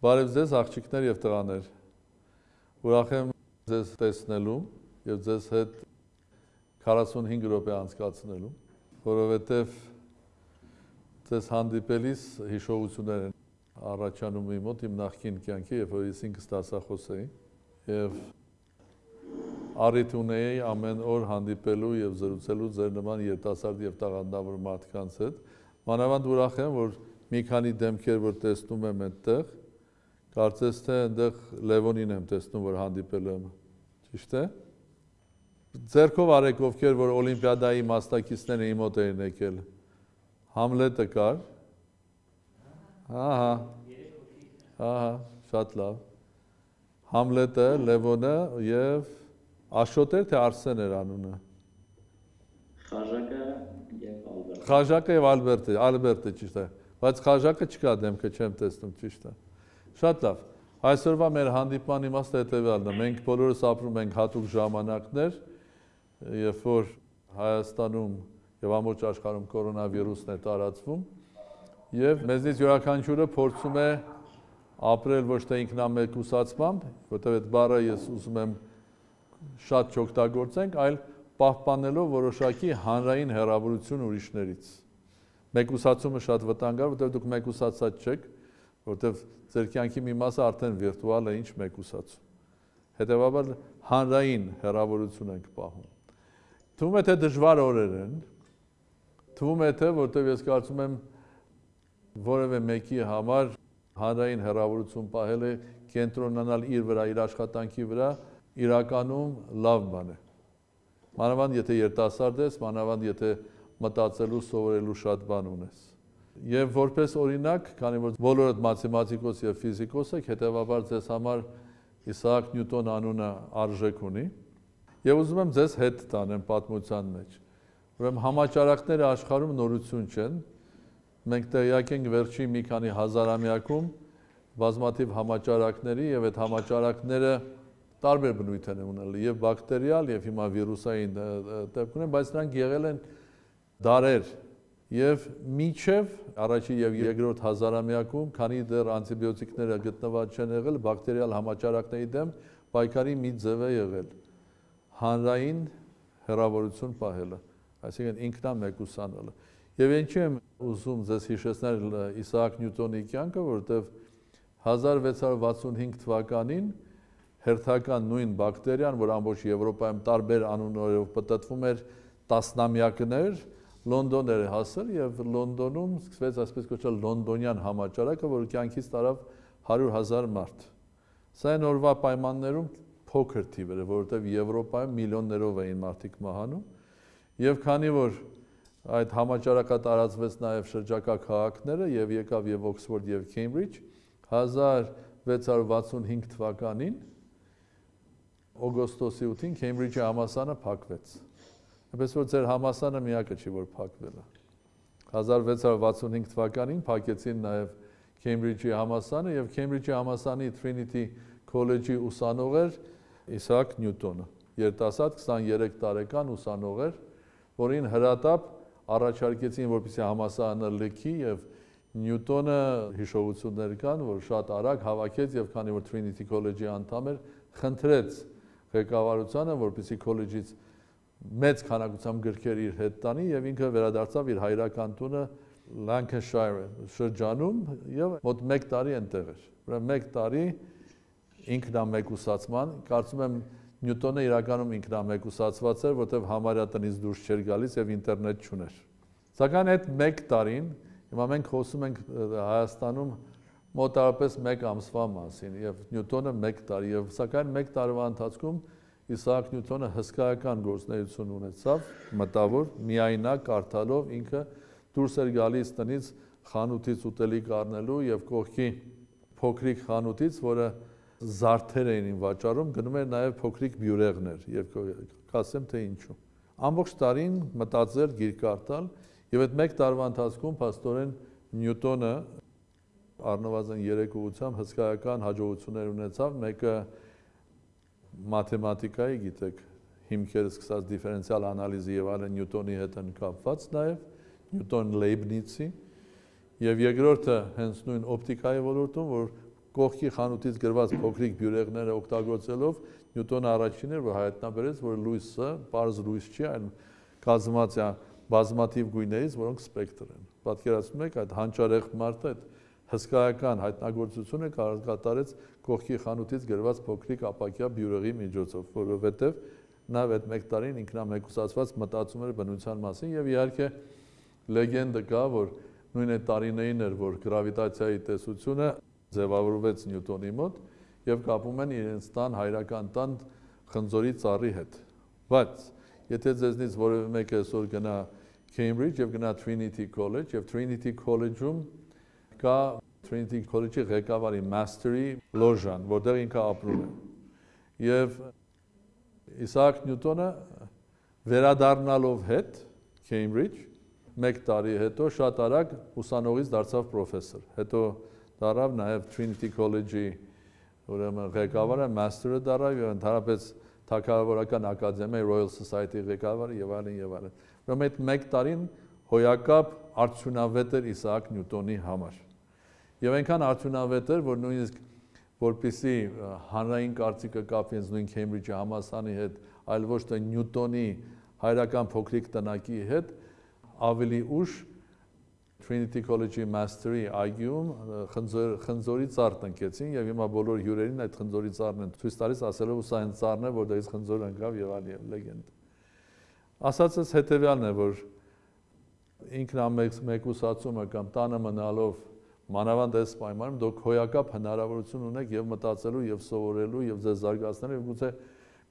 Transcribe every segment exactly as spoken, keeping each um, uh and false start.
Բարև ձեզ աղջիկներ եւ տղաներ։ Ուրախ եմ ձեզ տեսնելու եւ ձեզ հետ քառասունհինգ րոպե անցկացնելու, որովհետեւ ձեզ հանդիպելիս հիշողություններ են առաջանում իմ մոտ իմ նախկին կյանքի, երբ որ ես ինքս դասախոս էի եւ առիթ ունեի ամեն օր հանդիպելու եւ զրուցելու ձեր նման երիտասարդ եւ տաղանդավոր մարդկանց հետ։ Մանավանդ ուրախ եմ, որ մի քանի դեմքեր որ տեսնում եմ այդտեղ, կարծես թե այնտեղ Լևոնին եմ տեսնում, որ հանդիպել եմ, ճիշտ է։ Ձերքով արեք ովքեր որ օլիմպիադայի մասնակիցները իմ մոտ էին եկել։ Համլետը կար։ Ահա։ Ահա, շատ լավ։ Համլետը, Լևոնը եւ Աշոտ էր թե Արսեն էր անունը։ Խաժակը եւ Ալբերտը։ Խաժակը եւ Ալբերտը, Ալբերտը ճիշտ է։ Բայց Խաժակը չկա դեմքը չեմ տեսնում, ճիշտ է։ Շատ լավ։ Այսօրվա մեր հանդիպման իմաստը հետևյալն է։ Մենք բոլորս ապրում ենք հատուկ ժամանակներ, երբ որ Հայաստանում եւ ամբողջ աշխարհում կորոնավիրուսն է տարածվում, եւ մեզնից յուրաքանչյուրը փորձում է ապրել ոչ թե ինքնամեկուսացմամբ, որտեղ այդ բառը ես ուզում եմ շատ չօգտագործենք, այլ պահպանելով որոշակի հանրային հեռավորություն ուրիշներից։ Մեկուսացումը շատ վտանգավոր, որտեղ դուք մեկուսացած չեք, որտեղ ձեր կյանքի մի մասը արդեն վիրտուալ է, ինչ մեկուսացում։ Հետևաբար հանրային հեռավորություն ենք պահում։ Թվում է թե դժվար օրեր են, թվում է թե որտեղ ես կարծում եմ որևէ մեկի համար հանրային հեռավորություն պահելը կենտրոնանալ իր վրա, իր աշխատանքի վրա, իրականում լավ բան է։ Մանավանդ եթե երիտասարդ ես, մանավանդ եթե մտածելու, սովորելու շատ բան ունես։ Եվ որպես օրինակ, քանի որ բոլորդ մաթեմատիկոս եւ ֆիզիկոս եք, հետեւաբար ձեզ համար Իսահակ Նյուտոն անունը արժեք ունի, եւ ուզում եմ ձեզ հետ տանեմ պատմության մեջ։ Ուրեմն համաճարակները աշխարհում նորություն չեն։ Մենք տեղյակ ենք վերջին մի քանի հազարամյակում բազմաթիվ համաճարակների եւ այդ համաճարակները տարբեր բնույթ են ունենալ, եւ բակտերիալ եւ հիմա վիրուսային դեպք ունեն, բայց նրանք եղել են դարեր եւ միջև առաջին եւ երկրորդ հազարամյակում, քանի դեռ անտիբիոտիկները գտնված չեն եղել, բակտերիալ համաճարակների դեմ պայքարի մի ձև է եղել հանրային հեռավորություն պահելը, այսինքն ինքնամեկուսանալը։ Եվ ինչի եմ ուզում ձեզ հիշեցնել Իսահակ Նյուտոնի կյանքը, որովհետեւ հազար վեց հարյուր վաթսունհինգ թվականին հերթական նույն բակտերիան, որ ամբողջ Եվրոպայում տարբեր անուններով պտտվում էր տասնամյակներ, Լոնդոն էր հասել եւ Լոնդոնում սկսվեց այսպես կոչված լոնդոնյան համաճարակը, որ կյանքից տարավ հարյուր հազար մարդ։ Սա այն օրվա պայմաններում փոքր թիվ էր, որովհետեւ Եվրոպայում միլիոններով էին մարդիկ մահանում, եւ քանի որ այդ համաճարակը տարածվեց նաեւ շրջակա քաղաքները եւ եկավ եւ Օքսֆորդ եւ Քեմբրիջ, հազար վեց հարյուր վաթսունհինգ թվականին օգոստոսի ութին Քեմբրիջի համալսարանը փակվեց։ Այնպես որ ձեր համալսարանը միակը չի, որ փակվել է։ հազար վեց հարյուր վաթսունհինգ թվականին փակեցին նաև Քեմբրիջի համալսարանը եւ Քեմբրիջի համալսարանի Trinity College-ի ուսանող էր Իսահակ Նյուտոնը, երիտասարդ քսաներեք տարեկան ուսանող էր, որին հրատապ առաջարկեցին, որպեսզի համալսարանը լքի եւ Նյուտոնը հիշողություններ կան, որ շատ արագ հավաքեց եւ քանի որ Trinity College-ի անդամ էր, խնդրեց ղեկավարությանը, որպեսզի քոլեջից մեծ քանակությամբ գրքեր իր հետ տանի եւ ինքը վերադարձավ իր հայրական տունը Lancashire շրջանում եւ մոտ մեկ տարի այնտեղ էր։ Ուրեմն մեկ տարի ինքնամեկուսացման, կարծում եմ Նյուտոնը իրականում ինքնամեկուսացված էր, որտեղ համարյա տնից դուրս չէր գալիս եւ ինտերնետ չուներ։ Սակայն այդ մեկ տարին հիմա մենք խոսում ենք Հայաստանում մոտավորապես մեկ ամսվա մասին եւ Նյուտոնը մեկ տարի եւ սակայն մեկ տարվա ընթացքում Իսահակ Նյուտոնը հսկայական գործունեություն ունեցավ, մտավոր, միայնակ կարդալով ինքը դուրս էր գալիս տնից խանութից ուտելիք առնելու եւ կողքի փոքրիկ խանութից, որը զարդեր էին վաճառում, գնում էր նաեւ փոքրիկ բյուրեղներ եւ կասեմ թե ինչու։ Ամբողջ տարին մտածել, գիրք կարդալ եւ այդ մեկ տարվա ընթացքում փաստորեն Նյուտոնը առնվազն երեք ուղղությամբ հսկայական հաջողություններ ունեցավ, մեկը մաթեմատիկայի, գիտեք, հիմքերը սկսած դիֆերենցիալ անալիզի եւ այլն Նյուտոնի հետ են կապված նաեւ, Նյուտոն Լեյբնիցի, եւ երկրորդը հենց նույն օպտիկայի ոլորտում, որ կողքի խանութից գրված փոքրիկ բյուրեղները օգտագործելով Նյուտոնը առաջինն էր, որ հայտնաբերեց, որ լույսը պարզ լույս չի, այլ կազմված է բազմաթիվ գույներից, որոնք սպեկտր են։ Պատկերացնում եք, այդ հանճարեղ մարդը այդ հսկայական հայտնագործությունը կատարեց կողքի խանութից գրված փոքրիկ ապակյա բյուրեղի միջոցով, որովհետև նա այդ մեկ տարին ինքնամեկուսացված մտածում էր բնության մասին եւ իհարկե լեգենդը կա, որ նույն այդ տարիներին էր, որ գրավիտացիայի տեսությունը ձևավորվեց Նյուտոնի մոտ եւ կապում են իրենց տան հայրական տան խնձորի ծառի հետ։ Բայց եթե ձեզնից որևէ մեկը այսօր գնա Cambridge եւ գնա Trinity College եւ Trinity College-ում կա Trinity College-ի ղեկավարի Mastery լոժան, որտեղ ինքը ապրում է։ Եվ Իսահակ Նյուտոնը վերադառնալով հետ Cambridge մեկ տարի հետո շատ արագ ուսանողից դարձավ պրոֆեսոր։ Հետո դարավ նաև Trinity College-ի ուրեմն ղեկավարը, master-ը դարավ եւ ընդհանրապես թագավորական ակադեմիայի Royal Society ղեկավարը եւ այլն եւ այլն։ Ուրեմն այդ մեկ տարին հոյակապ արդյունավետ էր Իսահակ Նյուտոնի համար։ Եվ այնքան արդյունավետ էր, որ նույնիսկ որպեսզի հանրային կարծիքը կապվի նույն Cambridge-ի համալսարանի հետ, այլ ոչ թե Նյուտոնի հայրական փոքրիկ տնակի հետ, ավելի ուշ Trinity College-ի Mastery այգում խնձորի ծառ տնկեցին եւ հիմա բոլոր հյուրերին այդ խնձորի ծառն են ցույց տալիս, ասելով ու սա այն ծառն է, որտեղից խնձոր ընկավ եւ այլն լեգենդ։ Ասածս հետեւյալն է, որ ինքնամեկուսացումը կամ տանը մնալով մանավանդ այս պայմանում դուք հոյակապ հնարավորություն ունեք եւ մտածելու եւ սովորելու եւ ձեզ զարգացնելու եւ գուցե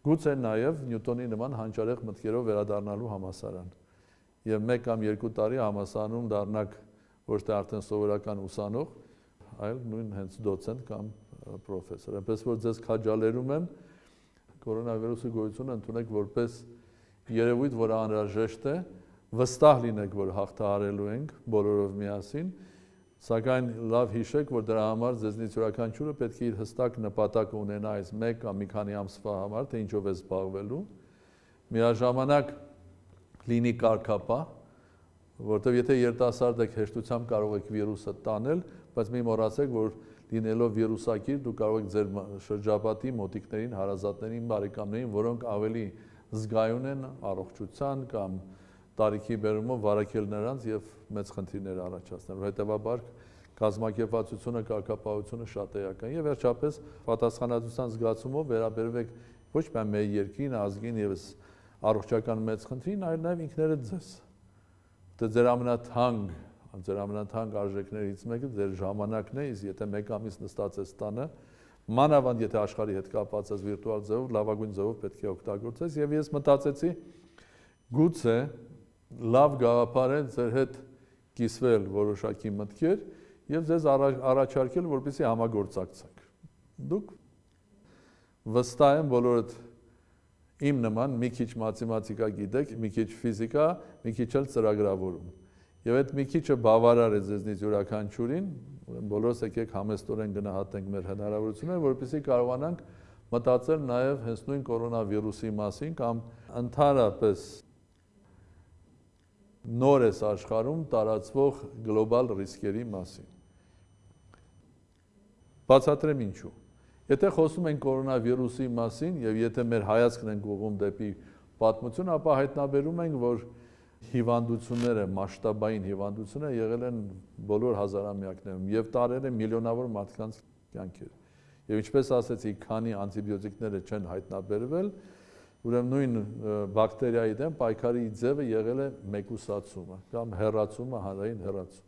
գուցե նաեւ Նյուտոնի նման հանճարեղ մտքերով վերադառնալու համասարան։ Եվ մեկ կամ երկու տարի համասարանում դառնաք ոչ թե արդեն սովորական ուսանող, այլ նույն հենց դոցենտ կամ պրոֆեսոր։ Այնպես որ ձեզ քաջալերում եմ կորոնավիրուսի գոյությունը ընդունեք որպես երևույթ, որ անհրաժեշտ է, վստահ լինեք, որ հաղթահարելու ենք բոլորով միասին, սակայն լավ հիշեք, որ դրա համար ձեզնից յուրաքանչյուրը պետք է իր հստակ նպատակ ունենա այս մեկ կամ մի քանի ամսվա համար, թե ինչով է զբաղվելու, միաժամանակ լինի կարգապահ, որտեղ եթե երիտասարդ եք հեշտությամբ կարող եք վիրուսը տանել, բայց մի մոռացեք, որ լինելով վիրուսակիր դուք կարող եք ձեր շրջապատի մոտիկներին, հարազատներին, բարեկամներին, որոնք ավելի զգայուն են առողջության կամ տարիքի բերումով վարակել նրանց եւ մեծ խնդիրներ առաջացնել։ Հետևաբար կազմակերպվածությունը, կարգապահությունը շատ էական եւ վերջապես պատասխանատվության զգացումով վերաբերվեք ոչ միայն մեր երկրին, ազգին եւ առողջական մեծ խնդրին, այլ նաեւ ինքներդ ձեզ։ Դե ձեր ամենաթանկ, ձեր ամենաթանկ արժեքներից մեկը ձեր ժամանակն է, իսկ եթե մեկ ամիս նստած ես տանը, մանավանդ եթե աշխարհի հետ կապված ես վիրտուալ ձևով, լավագույն ձևով պետք է օգտագործես եւ ես մտածեցի գուցե լավ գաղափար է ձեր հետ կիսվել որոշակի մտքեր եւ ձեզ առաջարկել, որպեսզի համագործակցենք։ Դուք վստահ եմ բոլորդ իմ նման մի քիչ մաթեմատիկա գիտեք, մի քիչ ֆիզիկա, մի քիչ էլ ծրագրավորում։ Եվ այդ մի քիչը բավարար է ձեզնից յուրաքանչյուրին, բոլորս եկեք համեստորեն գնահատենք մեր հնարավորությունները, որպեսզի կարողանանք մտածել նաև հենց նույն կորոնավիրուսի մասին կամ ընդհանրապես նոր էս աշխարհում տարածվող գլոբալ ռիսկերի մասին։ Բացատրեմ ինչու։ Եթե խոսում ենք կորոնավիրուսի մասին եւ եթե մեր հայացքն ենք ուղղում դեպի պատմություն, ապա հայտնաբերում ենք, որ հիվանդությունները, մասշտաբային հիվանդությունները եղել են բոլոր հազարամյակներում եւ տարել են միլիոնավոր մարդկանց կյանքեր։ Եվ ինչպես ասեցի, քանի անտիբիոտիկները չեն հայտնաբերվել, ուրեմն նույն բակտերիայի դեմ պայքարի ձևը եղել է մեկուսացումը կամ հեռացումը, հանրային հեռացում։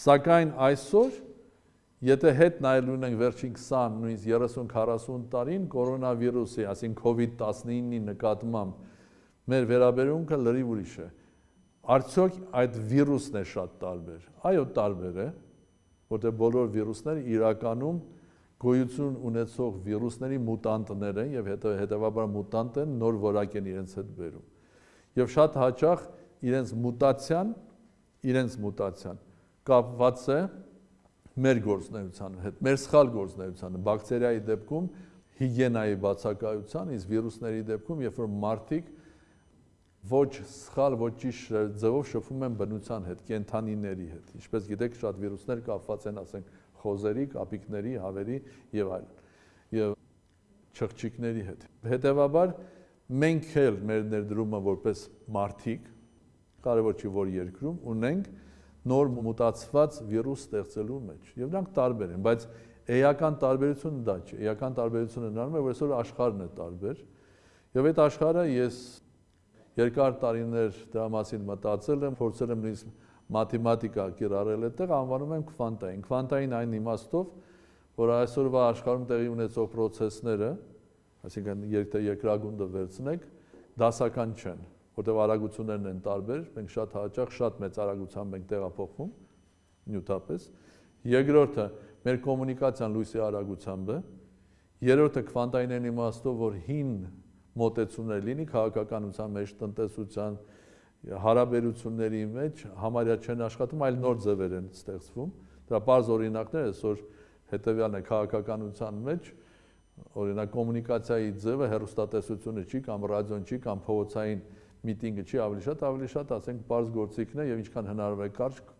Սակայն այսօր եթե հետ նայել ունենք վերջին քսան, նույնիսկ երեսուն քառասուն տարին կորոնավիրուսի, այսինքն COVID տասնինի նկատմամբ մեր վերաբերմունքը լրիվ ուրիշ է։ Արդյոք այդ վիրուսն է շատ տարբեր։ Այո, տարբեր է, որտեղ բոլոր վիրուսները իրականում գոյություն ունեցող վիրուսների մուտանտներ են եւ հետեւաբար մուտանտ են, նոր որակ են իրենց հետ բերում։ Եվ շատ հաճախ իրենց մուտացիան, իրենց մուտացիան կապված է մեր գործունեության հետ, մեր սխալ գործունեությանը, բակտերիայի դեպքում հիգիենայի բացակայության, իսկ վիրուսների դեպքում, երբ որ մարդիկ ոչ սխալ, ոչ ճիշտ ձևով շփվում են բնության հետ, կենդանիների հետ։ Ինչպես գիտեք, շատ վիրուսներ կապված են, ասենք, խոզերի, կապիկների, հավերի եւ այլն։ Եվ չղջիկների հետ։ Հետևաբար մենք էլ մեր ներդրումը որպես մարդիկ, կարևոր չի որ երկրում, ունենք նոր մուտացված վիրուս ստեղծելու մեջ։ Եվ նրանք տարբեր են, բայց էական տարբերությունը դա չէ։ Էական տարբերությունը նրանում է, որ այսօր աշխարհն է տարբեր։ Եվ այդ աշխարհը ես երկար տարիներ դրա մասին մտածել եմ, փորձել եմ նույնիսկ մաթեմատիկա կիրառել այդտեղ, անվանում եմ քվանտային։ Քվանտային այն իմաստով, որ այսօրվա աշխարհում տեղի ունեցող process-ները, այսինքն եթե երկրագունդը վերցնեք, դասական չեն, որտեղ արագություններն են տարբեր, մենք շատ հաճախ շատ մեծ արագությամբ ենք տեղափոխվում նյութապես։ Երկրորդը մեր կոմունիկացիան լույսի արագությամբ է։ Երրորդը քվանտային իմաստով, որ հին մոտեցումներ լինի քաղաքականության մեջ, տնտեսության, հարաբերությունների մեջ համարյա չեն աշխատում, այլ նոր ձևեր են ստեղծվում։ Դրա բարձ օրինակները այսօր հետևյալն է քաղաքականության մեջ, օրինակ կոմունիկացիայի ձևը հեռուստատեսությունը չի կամ ռադիոն չի կամ փողոցային միտինգը չի, ավելի շատ, ավելի շատ, ասենք, բարձ գործիքն է եւ ինչքան հնարավոր է կարճ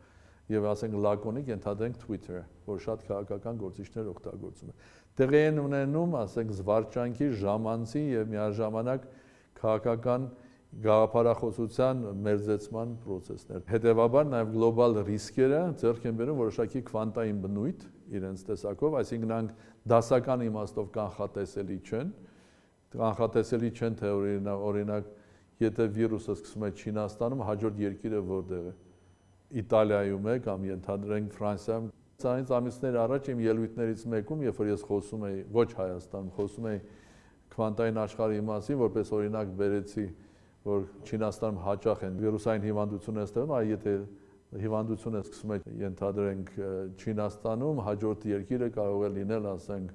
եւ ասենք լակոնիկ ենթադրենք Twitter-ը, որ շատ քաղաքական գործիչներ օգտագործում են։ Տեղի են ունենում, ասենք, զվարճանքի, ժամանցի եւ միաժամանակ քաղաքական գաղափարախոսության մերձեցման process-ներ։ Հետևաբար նաև գլոբալ ռիսկերը ձեռք են բերում որոշակի քվանտային բնույթ իրենց տեսակով, այսինքն նրանք դասական իմաստով կանխատեսելի չեն, կանխատեսելի չեն, թե օրինակ, եթե վիրուսը սկսում է Չինաստանում, հաջորդ երկիրը որտեղ է, Իտալիայում է կամ ենթադրենք Ֆրանսիայում։ Ցայից ամիսներ առաջ իմ ելույթներից մեկում, երբ որ ես խոսում էի, ոչ Հայաստանում, խոսում էի քվանտային աշխարհի մասին, որպես օրինակ բերեցի, որ Չինաստանում հաճախ են վիրուսային հիվանդություններ ստեղծում, այ եթե հիվանդությունը սկսում է ենթադրենք Չինաստանում, հաջորդ երկիրը կարող է լինել, ասենք,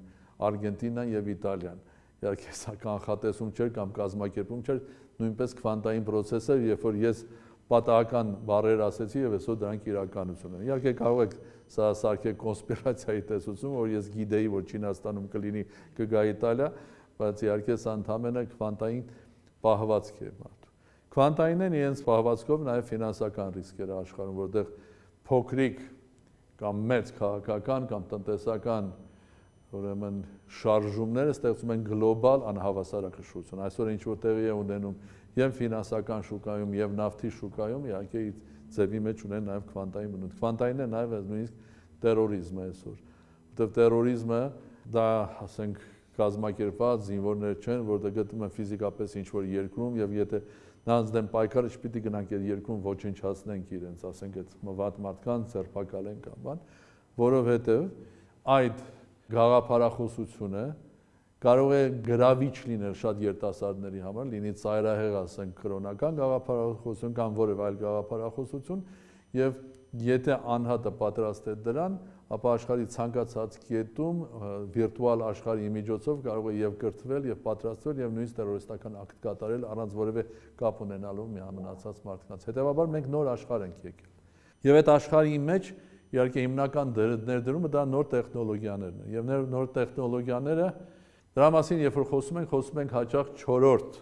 Արգենտինան եւ Իտալիան։ Իհարկե սա կանխատեսում չէր կամ կազմակերպում չէր, նույնպես քվանտային process էր, երբ որ ես պատահական բառեր ասեցի եւ այսօր դրանք իրականություն են։ Իհարկե կարող եք սա սարքել կոնսպիրացիայի տեսություն, որ ես գիտեի, որ Չինաստանում կլինի, կգա Իտալիա, բայց իհարկե սա ընդհանրապես քվանտային պահվածք է մարդու։ Քվանտայինն իրենց պահվածքով նաև ֆինանսական ռիսկեր աշխարհում, որտեղ փոքրիկ կամ մեծ քաղաքական կամ տնտեսական ուրեմն շարժումները ստեղծում են գլոբալ անհավասարակշռություն։ Այսօր ինչ որ տեղի է ունենում եւ ֆինանսական շուկայում եւ նավթի շուկայում, իհարկե ձևի մեջ ունեն նաև քվանտային բնույթ։ Քվանտայինը նաև նույնիսկ տերորիզմը է այսօր, որտեղ տերորիզմը դա, ասենք, կազմակերպված զինվորներ չեն, որտեղ գտնում են ֆիզիկապես ինչ-որ երկրում եւ եթե նրանց դեմ պայքարը չպիտի գնանք այդ երկրում ոչնչացնենք իրենց, ասենք այդ մվատ մարդկանց ձերբակալենք կամ բան, որովհետեւ այդ գաղափարախոսությունը կարող է գրավիչ լինել շատ երիտասարդների համար, լինի ծայրահեղ, ասենք, կրոնական գաղափարախոսություն կամ որևէ այլ գաղափարախոսություն եւ եթե անհատը պատրաստ է դրան, ապա աշխարհի ցանկացած կետում վիրտուալ աշխարհի միջոցով կարող է եւ կրթվել եւ պատրաստվել եւ նույնիսկ տերորիստական ակտ կատարել առանց որևէ կապ ունենալու միամնացած մարդկանց։ Հետևաբար մենք նոր աշխարհ ենք եկել։ Եվ այդ աշխարհի մեջ իհարկե հիմնական ներդրումը դա նոր տեխնոլոգիաներն են։ Եվ նոր տեխնոլոգիաները դրա մասին երբ որ խոսում ենք, խոսում ենք հաճախ չորրորդ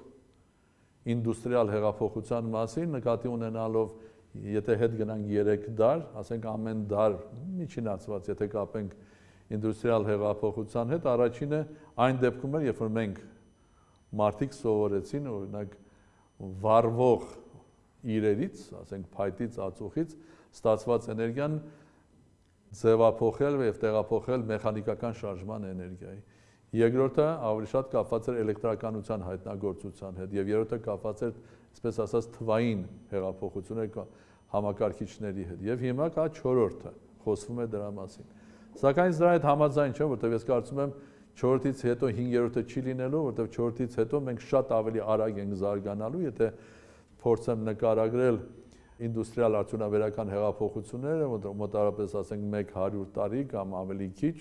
ինդուստրիալ հեղափոխության մասին, նկատի ունենալով եթե հետ գնանք երեք դար, ասենք ամեն դար միջինացված, եթե կապենք ինդուստրիալ հեղափոխության հետ, առաջինը այն դեպքում էր, երբ որ մենք մարդիկ սովորեցին, օրինակ, վառվող իրերից, ասենք փայտից, ածուխից ստացված էներգիան ձևափոխել եւ տեղափոխել մեխանիկական շարժման էներգիայի։ Երկրորդը ավելի շատ կապված էր էլեկտրականության հայտնագործության հետ եւ երրորդը կապված էր, այսպես ասած, թվային հեղափոխությունների համակարգիչների հետ եւ հիմա կա չորրորդը, խոսվում է դրա մասին։ Սակայն դրա հետ համաձայն չեմ, որտեղ ես կարծում եմ չորրորդից հետո հինգերորդը չի լինելու, որտեղ չորրորդից հետո մենք շատ ավելի արագ ենք զարգանալու, եթե փորձեմ նկարագրել ինդուստրիալ արդյունաբերական հեղափոխությունները, մոտավորապես ասենք մեկ հարյուր տարի կամ ավելի քիչ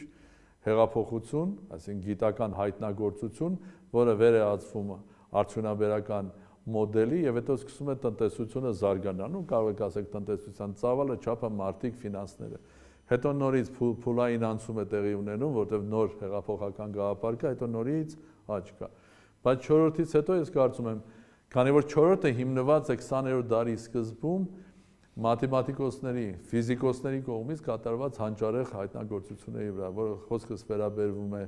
հեղափոխություն, այսինքն գիտական հայտնագործություն, որը վեր է ածվում արդյունաբերական մոդելի եւ հետո սկսում է տնտեսությունը զարգանալու, կարող եք ասեք տնտեսության ծավալը, չափը, մարդիկ, ֆինանսները։ Հետո նորից փուլային անցում է տեղի ունենում, որտեղ նոր հեղափոխական գաղափար կա, հետո նորից աճ կա։ Բայց չորրորդից հետո ես կարծում եմ, քանի որ չորրորդը հիմնված է քսաներորդ դարի սկզբում մաթեմատիկոսների, ֆիզիկոսների կողմից կատարված հանճարեղ հայտնագործությունների վրա, որը խոսքս վերաբերվում է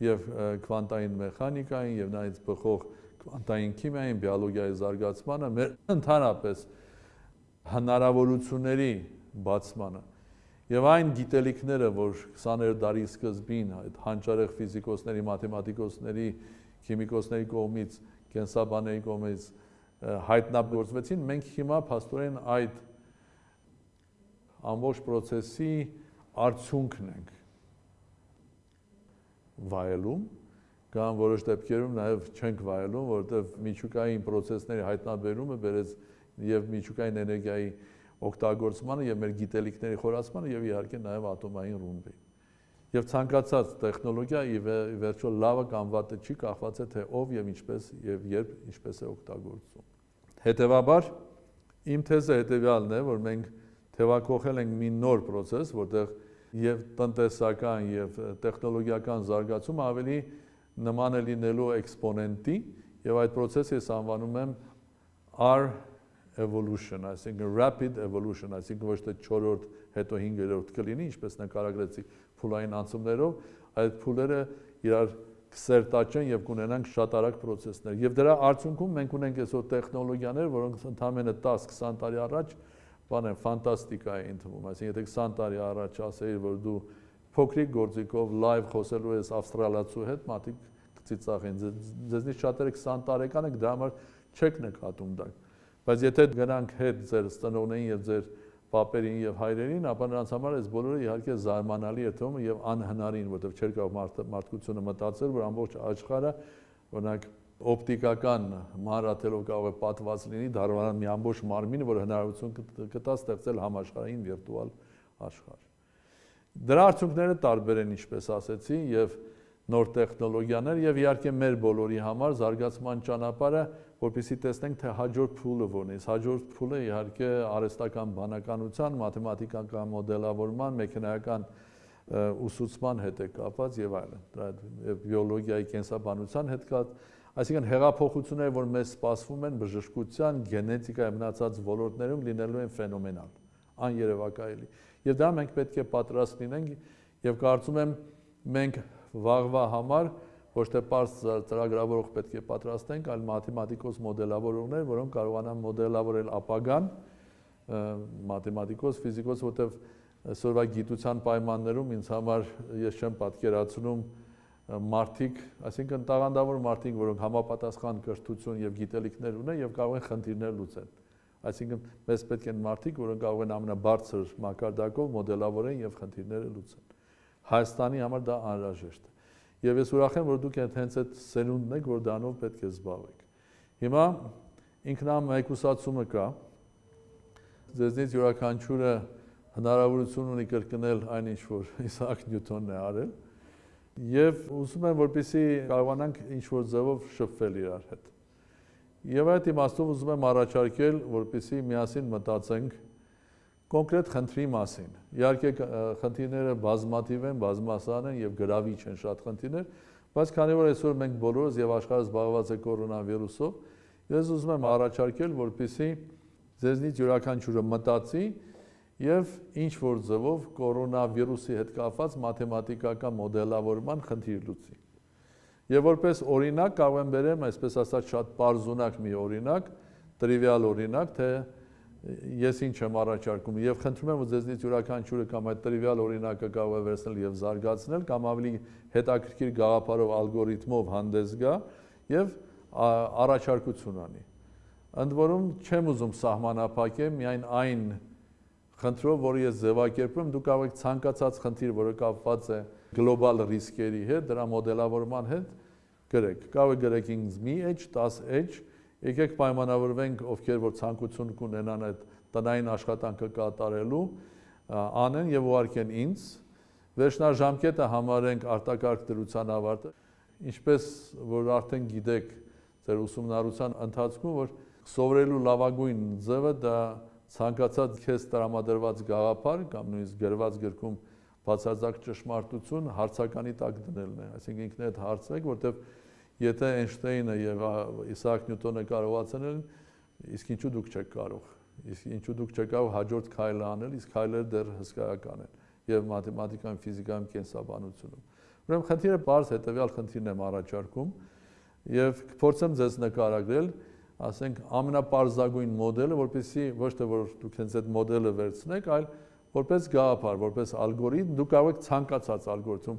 եւ քվանտային մեխանիկային, եւ նաեւ բխող քվանտային քիմիային, բիոլոգիայի զարգացմանը, մեր ընդհանրապես հնարավորությունների բացմանը եւ այն գիտելիքները, որ քսաներորդ դարի սկզբին այդ հանճարեղ ֆիզիկոսների, մաթեմատիկոսների, քիմիկոսների կողմից, կենսաբանների կողմից հայտնագործվեցին, մենք հիմա փաստորեն այդ ամբողջ process-ի արդյունքն ենք վայելում, կամ որոշ դեպքերում նաև չենք վայելում, որովհետև միջուկային process-ների հայտնաբերումը բերեց եւ միջուկային էներգիայի օգտագործմանը եւ մեր գիտելիքների խորացմանը եւ իհարկե նաև ատոմային ռումբին։ Եվ ցանկացած տեխնոլոգիա ի վերջո լավը կամ վատը չի, կախված է թե ով եւ ինչպես եւ երբ ինչպես է օգտագործում։ Հետևաբար իմ թեզը հետեւյալն է, որ մենք թևակողել ենք մի նոր process, որտեղ եւ տնտեսական եւ տեխնոլոգիական զարգացումը ավելի նման է լինելու էքսպոնենտի եւ այդ process-ը ես անվանում եմ R evolution, այսինքն rapid evolution, այսինքն ոչ թե չորրորդ հետո հինգերորդ կլինի, ինչպես նկարագրեցի փուլային անցումներով, այդ փուլերը իրար կսերտաճեն եւ կունենանք շատ արագ process-ներ։ Եվ դրա արդյունքում մենք ունենք այսօր տեխնոլոգիաներ, որոնք ընդամենը տասը-քսան տարի առաջ բան են ֆանտաստիկա է ընդվում, այսինքն եթե քսան տարի առաջ ասեիր, որ դու փոքրիկ գործիքով լայվ խոսելու ես ավստրալացու հետ, մատիկ կծիծաղեն, ձեզնից շատերը քսան տարեկան եք, դրա համար չեք նկատում դա։ Բայց եթե գնանք հետ ձեր ծնողներին եւ ձեր պապերին եւ հայրերին, ապա նրանց համար այս բոլորը իհարկե զարմանալի է թվում եւ անհնարին, որովհետեւ չէր կարող մարդկությունը մտածել, որ ամբողջ աշխարհը, օրինակ օպտիկական մանրաթելով կարող է պատված լինի, դառնալ մի ամբողջ մարմին, որ հնարավորություն կտա ստեղծել համաշխարհային վիրտուալ աշխարհ։ Դրա արդյունքները տարբեր են, ինչպես ասեցի, եւ նոր տեխնոլոգիաներ եւ իհարկե մեր բոլորի համար զարգացման ճանապարհը, որպեսզի տեսնենք թե հաջորդ փուլը որն է։ Հաջորդ փուլը իհարկե արհեստական բանականության, մաթեմատիկական մոդելավորման, մեխանիկական ուսուցման հետ է կապված եւ այլն։ Դրա եւ բիոլոգիայի, կենսաբանության հետ կապված, այսինքն հեղափոխությունները, որ մեզ սպասվում են բժշկության, գենետիկայի մնացած ոլորտներում լինելու են ֆենոմենալ, աներևակայելի։ Եվ դա մենք պետք է պատրաստ լինենք եւ կարծում եմ մենք վաղվա համար ոչ թե պարզ ծրագրավորող պետք է պատրաստենք, այլ մաթեմատիկոս մոդելավորողներ, որոնք կարողանան մոդելավորել ապագան, մաթեմատիկոս, ֆիզիկոս, որտեղ այսօրվա գիտության պայմաններում ինձ համար ես չեմ պատկերացնում մարդիկ, այսինքն տաղանդավոր մարդիկ, որոնք համապատասխան կրթություն եւ գիտելիքներ ունեն եւ կարող են խնդիրներ լուծել։ Այսինքն մեզ պետք են մարդիկ, որոնք կարող են ամենաբարձր մակարդակով մոդելավորեն եւ խնդիրները լուծեն։ Հայաստանի համար դա անհրաժեշտ է։ Եվ ես ուրախ եմ, որ դուք հենց այդ սերունդն եք, որ դրանով պետք է զբաղվեք։ Հիմա ինքնամեկուսացումը կա։ Ձեզնից յուրաքանչյուրը հնարավորություն ունի կրկնել այն ինչ որ Իսահակ Նյուտոնն է արել։ Եվ ուզում եմ, որպեսզի կարողանանք ինչ-որ ձևով շփվել իրար հետ։ Եվ այդ իմաստով ուզում եմ առաջարկել, որպեսզի միասին մտածենք կոնկրետ խնդրի մասին։ Իհարկե խնդիրները բազմաթիվ են, բազմասան են եւ գրավիչ են շատ խնդիրներ, բայց քանի որ այսօր մենք բոլորս եւ աշխարհը զբաղված է կորոնավիրուսով, ես ուզում եմ առաջարկել, որպեսզի ձեզնից յուրաքանչյուրը մտածի եւ ինչ որ ձևով կորոնավիրուսի հետ կապված մաթեմատիկական մոդելավորման խնդիր լուծի։ Եվ որպես օրինակ կարող եմ բերեմ, այսպես ասած, շատ պարզունակ մի օրինակ, տրիվիալ օրինակ, թե ես ինչ եմ առաջարկում եւ խնդրում եմ, որ ձեզնից յուրաքանչյուրը կամ այդ տրիվիալ օրինակը կարող է վերցնել եւ զարգացնել, կամ ավելի հետաքրքիր գաղափարով ալգորիթմով հանդես գա եւ առաջարկություն անի։ Ընդ որում չեմ ուզում սահմանափակեմ միայն այն խնդրով, որը ես ձևակերպում, դուք կարող եք ցանկացած խնդիր, որը կապված է գլոբալ ռիսկերի հետ, դրա մոդելավորման հետ գրեք։ Կարող եք գրեք ինձ մի edge, դես edge, եկեք պայմանավորվենք, ովքեր որ ցանկություն կունենան այդ տնային աշխատանքը կատարելու, անեն եւ ուղարկեն ինձ, վերջնաժամկետը համարենք արտակարգ դրության ավարտը, ինչպես որ արդեն գիտեք ձեր ուսումնառության ընթացքում, որ սովորելու լավագույն ձևը դա ցանկացած քեզ տրամադրված գաղափար կամ նույնիսկ գրված գրքում բացարձակ ճշմարտություն հարցականի տակ դնելն է, այսինքն ինքներդ հարցրեք, որտեղ եթե Էյնշտեյնը եւ Իսահակ Նյուտոնը կարողացան, իսկ ինչու դուք չեք կարող։ Իսկ ինչու դուք չկարող հաջորդ քայլը անել, իսկ քայլերը դեռ հսկայական են եւ մաթեմատիկայում, ֆիզիկայում, կենսաբանությունում։ Ուրեմն խնդիրը բարձ հետեւյալ խնդիրն եմ առաջարկում եւ կփորձեմ ձեզ նկարագրել, ասենք ամենապարզագույն մոդելը, որպեսզի ոչ թե որ դուք հենց այդ մոդելը վերցնեք, այլ որպես գաղափար, որպես ալգորիթմ, դուք կարող եք ցանկացած ալգորիթմ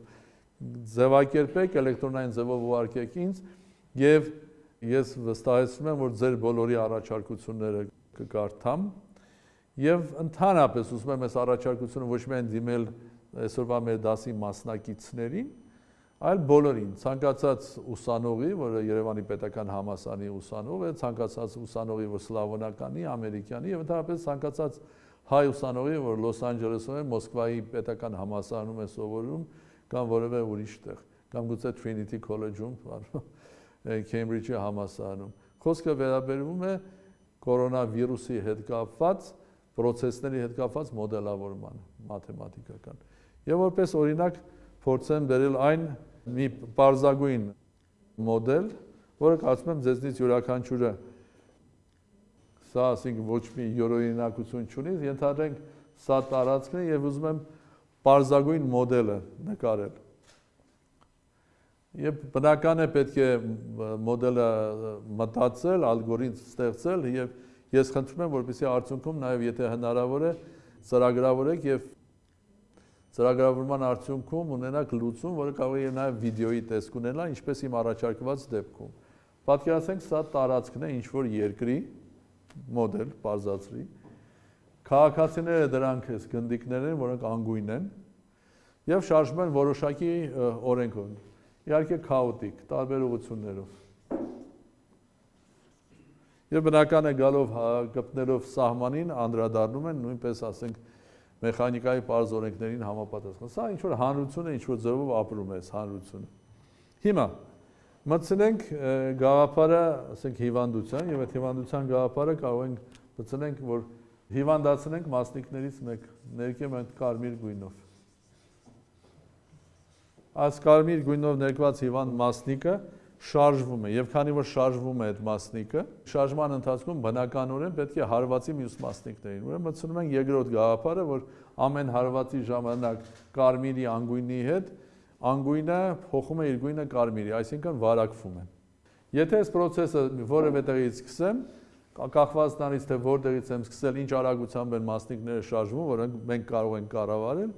ձևակերպեք, էլեկտրոնային ձևով ուղարկեք ինձ եւ ես վստահեցնում եմ, որ ձեր բոլորի առաջարկությունները կկարդամ եւ ընդհանրապես ուզում եմ այս առաջարկությունը ոչ միայն դիմել այսօրվա մեր դասի մասնակիցներին, այլ բոլորին, ցանկացած ուսանողի, որը Երևանի պետական համալսարանի ուսանող է, ցանկացած ուսանողի, որ սլավոնականի, ամերիկյանի եւ ընդհանրապես ցանկացած հայ ուսանողի, որ Լոս Անջելեսում է, Մոսկվայի պետական համալսարանում է սովորում, կամ որևէ ուրիշ տեղ, կամ գուցե Trinity College-ում, Cambridge-ի համալսարանում։ Խոսքը վերաբերվում է կորոնավիրուսի հետ կապված, պրոցեսների հետ կապված մոդելավորման, մաթեմատիկական։ Եվ որպես օրինակ փորձեմ բերել այն մի պարզագույն մոդել, որը կարծում եմ ձեզնից յուրաքանչյուրը սա ասենք ոչ մի յուրօրինակություն չունի, ենթադրենք սա տարածքն է եւ ուզում եմ պարզագույն մոդելը նկարել։ Եվ բնական է պետք է մոդելը մտածել, ալգորիթմ ստեղծել եւ ես խնդրում եմ, որպեսզի արդյունքում նաեւ եթե հնարավոր է ծրագրավորեք եւ ծրագրավորման արդյունքում ունենաք լուծում, որը կարող է նաեւ վիդեոյի տեսք ունենա, ինչպես իմ առաջարկված դեպքում։ Պատկերացնենք սա տարածքն է ինչ-որ երկրի մոդել, բարձրացրի։ Քաղաքացիները դրանք էս գնդիկներ են, որոնք անգույն են եւ շարժվում են որոշակի օրենքով։ Իհարկե քաոտիկ, տարբեր ուղղություններով։ Եվ բնական է գալով գտնելով սահմանին անդրադառնում են նույնպես ասենք մեխանիկայի պարզ օրենքներին համապատասխան։ Սա ինչ որ հանրություն է, ինչ որ ձևով ապրում է այս հանրությունը։ Հիմա մտցնենք գաղափարը, ասենք հիվանդության եւ այդ հիվանդության գաղափարը կարող ենք մտցնենք, որ հիվանդացնենք մասնիկներից մեկ, ներկեմ այդ կարմիր գույնով։ Այս կարմիր գույնով ներկված հիվանդ մասնիկը շարժվում է եւ քանի որ շարժվում է այդ մասնիկը, շարժման ընթացքում բնականորեն պետք է հարվածի մյուս մասնիկներին։ Ուրեմն մտցնում ենք երկրորդ գաղափարը, որ ամեն հարվածի ժամանակ կարմիրի անգույնի հետ անգույնը փոխում է իր գույնը կարմիրի, այսինքն վարակվում է։ Եթե այս process-ը որևէ տեղից սկսեմ, կախված նրանից թե որտեղից եմ սկսել, ինչ արագությամբ են մասնիկները շարժվում, որոնք մենք կարող ենք կառավարել,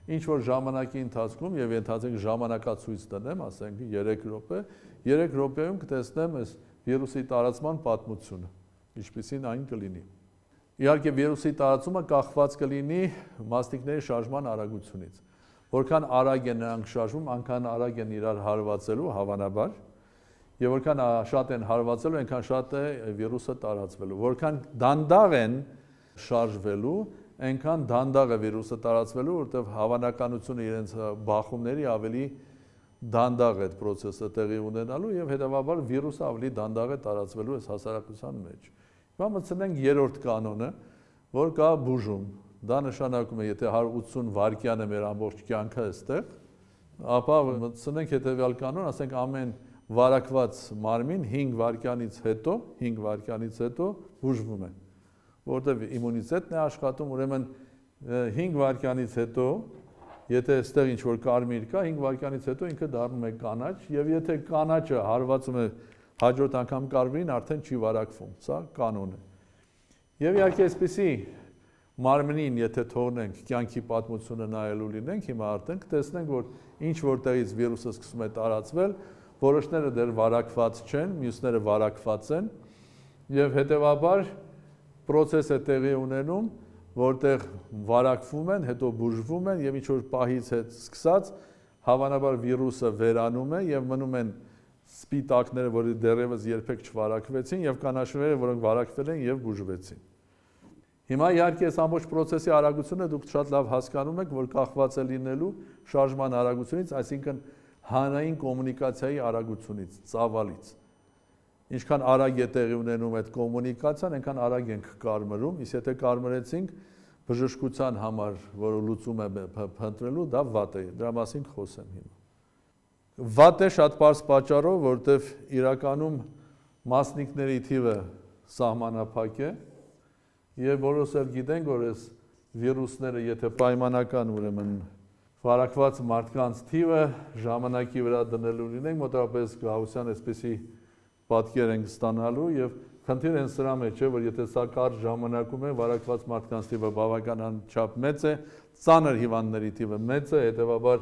ինչ որ ժամանակի ընթացքում եւ ենթադրենք ժամանակացույց տնեմ, ասենք երեք րոպե, երեք րոպեում կտեսնեմ այս վիրուսի տարածման պատմությունը, ինչպիսին այն կլինի։ Իհարկե վիրուսի տարածումը կախված կլինի մասնիկների շարժման արագությունից։ Որքան արագ են նրանք շարժվում, այնքան արագ են իրար հարվածելու, հավանաբար, եւ որքան շատ են հարվածելու, այնքան շատ է վիրուսը տարածվելու։ Որքան դանդաղ են շարժվելու, այնքան դանդաղ է վիրուսը տարածվելու, որտեղ հավանականությունը իրենց բախումների ավելի դանդաղ է այդ process-ը տեղի ունենալու եւ հետեւաբար վիրուսը ավելի դանդաղ է տարածվելու այս հասարակության մեջ։ Հիմա մտցնենք երրորդ կանոնը, որ կա բուժում։ Դա նշանակում է, եթե հարյուր ութսուն վայրկյան է մեր ամբողջ կյանքը այստեղ, ապա մտցնենք հետեւյալ կանոն, ասենք ամեն վարակված մարմին հինգ վայրկյանից հետո, հինգ վայրկյանից հետո բուժվում է, որտեղ իմունիտետն է աշխատում, ուրեմն հինգ վայրկյանից հետո, եթե այստեղ ինչ որ կարմիր կա, հինգ վայրկյանից հետո ինքը դառնում է կանաչ, եւ եթե կանաչը հարվածում է հաջորդ անգամ կարմիրին, արդեն չի վարակվում, սա կանոն է։ Եվ իհարկե այսպեսի մարմնին, եթե թողնենք կյանքի պատմությունը նայելու լինենք, հիմա արդեն կտեսնենք, որ ինչ որտեղից վիրուսը սկսում է տարածվել, որոշները դեռ վարակված չեն, մյուսները վարակված են, եւ հետեւաբար process է տեղի ունենում, որտեղ վարակվում են, հետո բուժվում են եւ ինչ որ պահից հետ սկսած հավանաբար վիրուսը վերանում է եւ մնում են սպիտակները, որը դեռևս երբեք չվարակվեցին եւ կանաչները, որոնք վարակվել են եւ բուժվեցին։ Հիմա իհարկե այս ամբողջ process-ի արագությունը դուք շատ լավ հասկանում եք, որ կախված է լինելու շարժման արագությունից, այսինքն հանրային կոմունիկացիայի արագությունից, ծավալից։ Ինչքան արագ է տեղի ունենում այդ կոմունիկացիան, այնքան արագ ենք կարմրում, իսկ եթե կարմրեցինք բժշկության համար, որը լուծում է փնտրելու, դա վատ է, դրա մասին խոսեմ հիմա։ Վատ է շատ պարզ պատճառով, որտեղ իրականում մասնիկների թիվը սահմանափակ է, եւ որոնց էլ գիտենք, որ այս վիրուսները, եթե պայմանական ուրեմն վարակված մարդկանց թիվը ժամանակի վրա դնելու լինենք, մոտավորապես գահության այսպեսի պատկեր ենք ստանալու եւ խնդիրը հենց սրա մեջ է, որ եթե սա կարճ ժամանակում է վարակված մարդկանց թիվը բավական անչափ մեծ է, ծանր հիվանդների թիվը մեծ է, հետեւաբար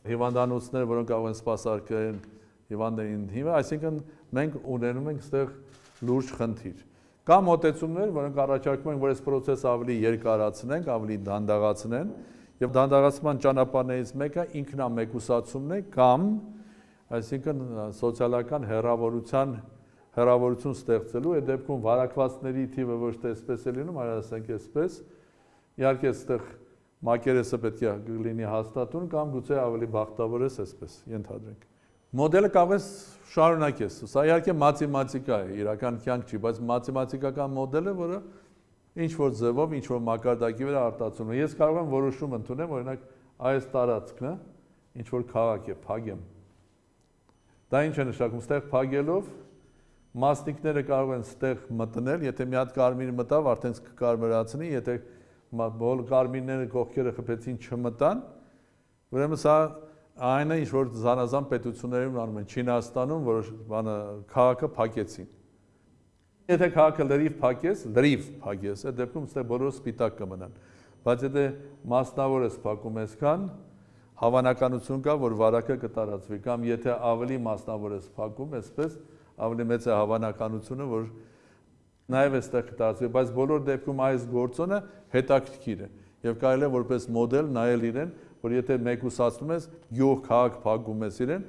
հիվանդանոցները, որոնք կարող են սպասարկել հիվանդներին թիվը, այսինքն մենք ունենում ենք այստեղ լուրջ խնդիր։ Կա մոտեցումներ, որոնք առաջարկում են, որ այս process-ը ավելի երկարացնենք, ավելի դանդաղացնեն, եւ դանդաղացման ճանապարհներից մեկը ինքնամեկուսացումն է կամ այսինքն սոցիալական հեռավորության հեռավորություն ստեղծելու է դեպքում վարակվածների թիվը ոչ թե այսպես է լինում, այլ ասենք այսպես, իհարկե այստեղ մակերեսը պետք է լինի հաստատուն կամ գուցե ավելի բախտավոր ես այսպես, ենթադրենք։ Մոդելը կարող է շարունակես, սա իհարկե մաթեմատիկա է, իրական կյանք չի, բայց մաթեմատիկական մոդել է, որը ինչ-որ ձևով, ինչ-որ մակարդակի վրա արտացոլվում է։ Ես կարող եմ որոշում ընդունեմ, օրինակ, այս տարածքը ինչ-որ քաղաք է, փագեմ։ Դա ինչ է նշանակում, ստեղ փագելով մասնիկները կարող են ստեղ մտնել, եթե մի հատ կարմիր մտավ, արդեն կկարմրացնի, եթե բոլոր կարմիրները կողքերը խփեցին չմտան, ուրեմն սա այն է, ինչ որ զանազան պետություններում անում են, Չինաստանում, որոշ բանը քաղաքը փակեցին։ Եթե քաղաքը լրիվ փակես, լրիվ փակես, այդ դեպքում ստե բոլորը սպիտակ կմնան։ Բայց եթե մասնավոր ես փակում այսքան, հավանականություն կա, որ վարակը կտարածվի, կամ եթե ավելի մասնավոր ես փակում, այսպես ավելի մեծ է հավանականությունը, որ նաև այստեղ կտարածվի, բայց բոլոր դեպքում այս գործոնը հետաքրքիր է եւ կարելի է որպես մոդել նայել իրեն, որ եթե մեկուսացնում ես, գյուղ քաղաք փակում ես իրեն,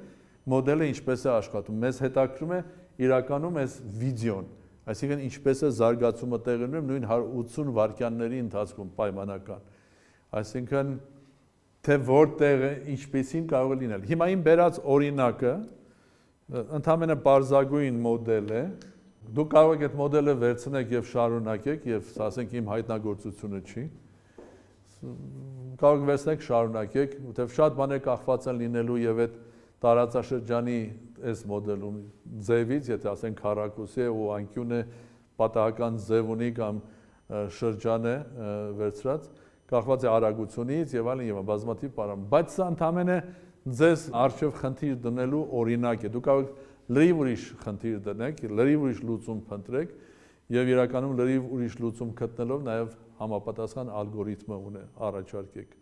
մոդելը ինչպես է աշխատում։ Մեզ հետաքրում է իրականում այս վիդեոն, այսինքն ինչպես է զարգացումը տեղի ունենում նույն ութսուն վայրկյանների ընթացքում պայմանական։ Այսինքն թե որտեղ ինչպեսին կարող է լինել։ Հիմա իմ բերած օրինակը ընդհանրապես բարձրագույն մոդել է։ Դուք կարող եք այդ մոդելը վերցնեք եւ շարունակեք եւ ասենք իմ հայտնագործությունը չի։ Կարող եք վերցնեք շարունակեք, որտեղ շատ բաներ կախված են լինելու եւ այդ տարածաշրջանի այս մոդելում ձևից, եթե ասենք քառակուսի է ու անկյուն է պատահական ձև ունի կամ շրջան է վերցրած, կախված է արագությունից եւ այլն եւ բազմաթիվ պարամ, բայց սա ընդհանրապես ձեզ արժեվ խնդիր դնելու օրինակ է։ Դուք կարող եք լրիվ ուրիշ խնդիր դնեք, լրիվ ուրիշ լուծում փնտրեք եւ իրականում լրիվ ուրիշ լուծում գտնելով նաեւ համապատասխան ալգորիթմը ունե առաջարկեք։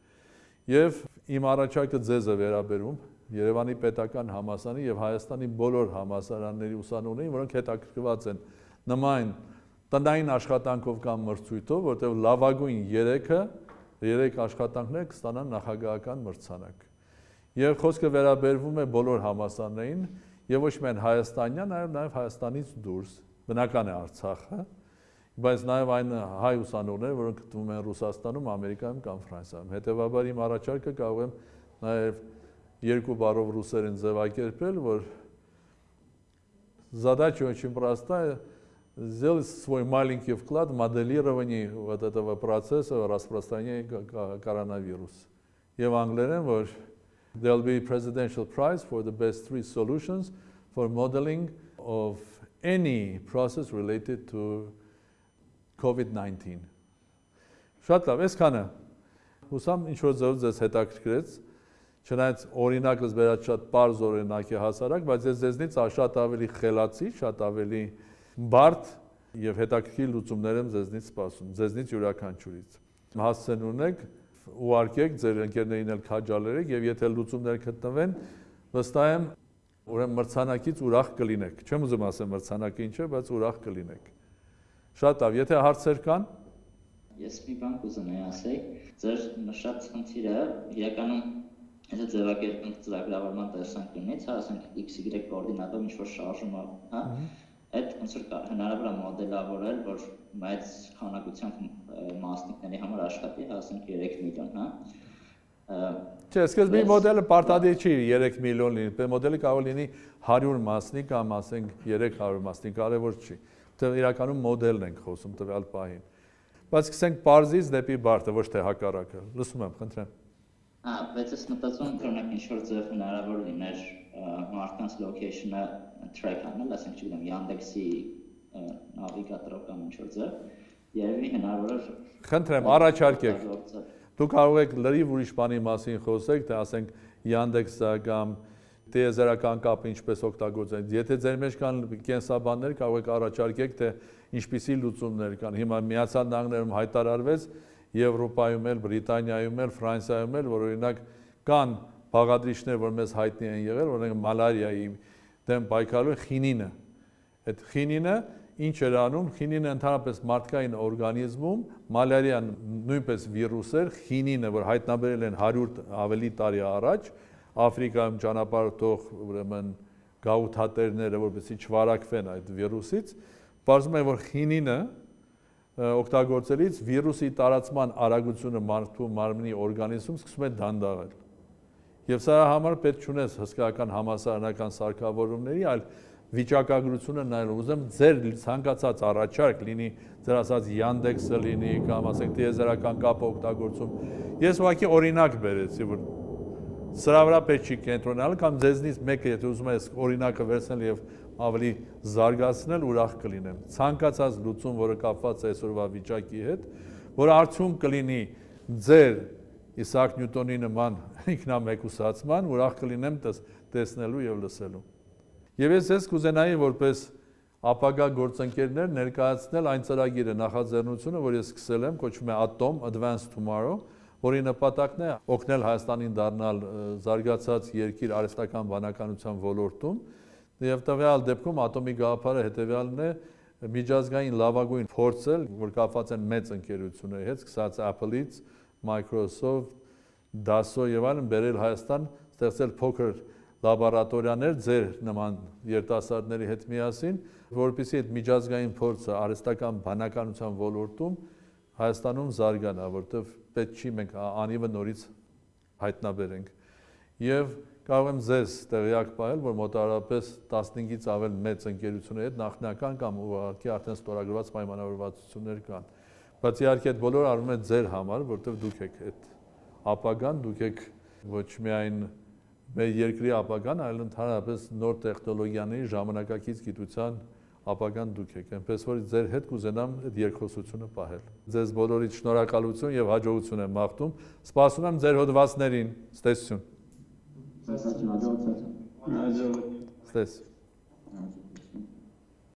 Եվ իմ առաջարկը ձեզ է վերաբերում Երևանի պետական համալսարանի եւ Հայաստանի բոլոր համալսարանների ուսանողներին, որոնք հետաքրքրված են նման տնային աշխատանքով կամ մրցույթով, որտեղ լավագույն երեքը երեք աշխատանքներ կստանան նախագահական մրցանակ։ Եվ խոսքը վերաբերվում է բոլոր համալսարաններին եւ ոչ միայն հայաստանյան, այլ նաեւ Հայաստանից դուրս, բնական է Արցախը, բայց նաեւ այն հայ ուսանողներ, որոնք գտնվում են Ռուսաստանում, Ամերիկայում կամ Ֆրանսիայում։ Հետեւաբար իմ առաջարկը կարող եմ նաեւ երկու բառով ռուսերեն ձևակերպել, որ задача очень простая сделать свой маленький вклад в моделирование вот этого процесса распространения коронавируса. Եվ անգլերեն, որ there will be a presidential prize for the best three solutions for modeling of any process related to COVID nineteen. Շատ լավ, այսքանը։ Հուսամ ինչ-որ ձեզ ձեզ հետաքրքրեց, չնայած օրինակս վերած շատ պարզ օրինակ է հասարակ, բայց ես ձեզնից շատ ավելի խելացի, շատ ավելի բարդ եւ հետաքրքիր լուծումներ եմ ձեզնից սպասում, ձեզնից յուրաքանչյուրից։ Հասցեն ունեք, ուղարկեք ձեր ընկերներին էլ քաջալերեք եւ եթե լուծումներ գտնվեն, վստահ եմ, ուրեմն մրցանակից ուրախ կլինեք։ Չեմ ուզում ասեմ մրցանակը ինչ է, բայց ուրախ կլինեք։ Շատ լավ, եթե հարցեր կան։ Ես մի բան կուզենայի ասել, ձեր նշած խնդիրը իրականում եթե ձևակերպենք ծրագրավորման տեսանկյունից, հա, ասենք X Y կոորդինատով ինչ-որ շարժում է, հա, այդ ոնց որ հնարավոր է մոդելավորել, որ մեծ քանակությամբ մասնիկների համար աշխատի, հա, ասենք երեք միլիոն, հա։ Չէ, սկզբի մոդելը պարտադիր չի երեք միլիոն լինի, բայց մոդելը կարող լինի հարյուր մասնիկ կամ ասենք երեք հարյուր մասնիկ, կարևոր չի։ Դե իրականում մոդելն ենք խոսում տվյալ պահին։ Բայց սկսենք պարզից դեպի բարդը, ոչ թե հակառակը։ Լսում եմ, խնդրեմ։ Հա, բայց ես մտածում եմ, օրինակ ինչ-որ ձև հնարավոր լիներ մարդկանց location-ը track անել, ասենք, չգիտեմ, Yandex-ի նավիգատորով կամ ինչ-որ ձև, երևի հնարավոր է Խնդրեմ, առաջարկեք։ Դուք կարող եք լրիվ ուրիշ բանի մասին խոսեք, թե ասենք Yandex-ը կամ տիեզերական կապը ինչպես օգտագործեն։ Եթե ձեր մեջ կան կենսաբաններ, կարող եք առաջարկեք, թե ինչպիսի լուծումներ կան։ Հիմա Միացյալ Նահանգներում հայտարարվեց, Եվրոպայում էլ, Բրիտանիայում էլ, Ֆրանսիայում էլ, որ օրինակ կան բաղադրիչներ, որ մեզ հայտնի են եղել, օրինակ մալարիայի դեմ պայքարելու խինինը։ Այդ խինինը ինչ էր անում, խինինը ընդհանրապես մարդկային օրգանիզմում, մալարիան նույնպես վիրուս էր, խինինը, որ հայտնաբերել են հարյուր ավելի տարի առաջ, Աֆրիկայում ճանապարհորդող ուրեմն գաղութատերները, որպեսզի չվարակվեն այդ վիրուսից, պարզվում է, որ խինինը օգտագործելիս վիրուսի տարածման արագությունը մարդու մարմնի օրգանիզմում սկսում է դանդաղել։ Եվ սրա համար պետք չունես հսկայական համալսարանական սարքավորումների, այլ վիճակագրությունը նայել, ուզեմ ձեր ցանկացած առաջարկ լինի, ձեր ասած Yandex-ը լինի կամ ասենք տիեզերական կապը օգտագործում։ Ես ուղղակի օրինակ բերեցի, որ սրա վրա պետք չի կենտրոնանալ կամ ձեզնից մեկը եթե ուզում ես օրինակը վերցնել եւ ավելի զարգացնել, ուրախ կլինեմ։ Ցանկացած լուծում, որը կապված է այսօրվա վիճակի հետ, որ արդյունք կլինի ձեր Իսահակ Նյուտոնի նման ինքնամեկուսացման, ուրախ կլինեմ տեսնելու եւ լսելու։ Եվ ես ես կուզենայի որպես ապագա գործընկերներ ներկայացնել այն ծրագիրը նախաձեռնությունը, որ ես սկսել եմ, կոչվում է Atom Advanced Tomorrow, որի նպատակն է օգնել Հայաստանին դառնալ զարգացած երկիր արհեստական բանականության ոլորտում, եւ տվյալ դեպքում ատոմի գաղափարը հետեւյալն է միջազգային լավագույն փորձել, որ կապված են մեծ ընկերությունների հետ, սկսած Apple-ից, Microsoft, Dassault եւ այլն, բերել Հայաստան, ստեղծել փոքր լաբորատորիաներ ձեր նման երիտասարդների հետ միասին, որպեսզի այդ միջազգային փորձը արհեստական բանականության ոլորտում Հայաստանում զարգանա, որտեղ պետք չի մենք անիվը նորից հայտնաբերենք։ Եվ կարող եմ ձեզ տեղյակ պահել, որ մոտավորապես տասնհինգից ավել մեծ ընկերությունների հետ նախնական կամ ուղղակի արդեն ստորագրված պայմանավորվածություններ կան։ Բայց իհարկե այդ բոլորը արվում է ձեր համար, որտեղ դուք եք այդ ապագան, դուք եք ոչ միայն մեր երկրի ապագան, այլ ընդհանրապես նոր տեխնոլոգիաների ժամանակակից գիտության ապագան դուք եք, այնպես որ ձեր հետ կուզենամ այդ երկխոսությունը պահել։ Ձեզ բոլորիդ շնորհակալություն եւ հաջողություն եմ մաղթում։ Սպասում եմ ձեր հոդվածներին։ Ստեսություն։ Հաջողություն։ Ստես։